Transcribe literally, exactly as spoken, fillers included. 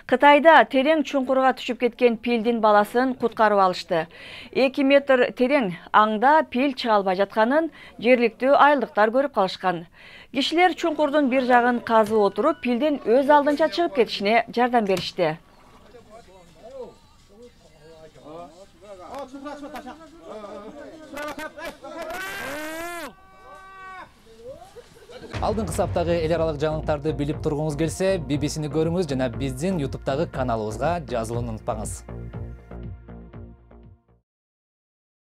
Кытайда терең чуңкурга түшүп кеткен пилдин баласын куткарып алышты. эки метр терең аңда пил чыга албай жатканын жергиликтүү айылдыктар көрүп калышкан. Кишилер чуңкурдун бир жагын казып отуруп, пилдин өз алдынча чыгып кетишине жардам беришти. Алдыңкы саптагы эл аралык жаңылыктарды билип тургуңуз келсе, би би сини көрүңүз жана биздин ютубтагы каналыбызга жазылууну унутпаңыз.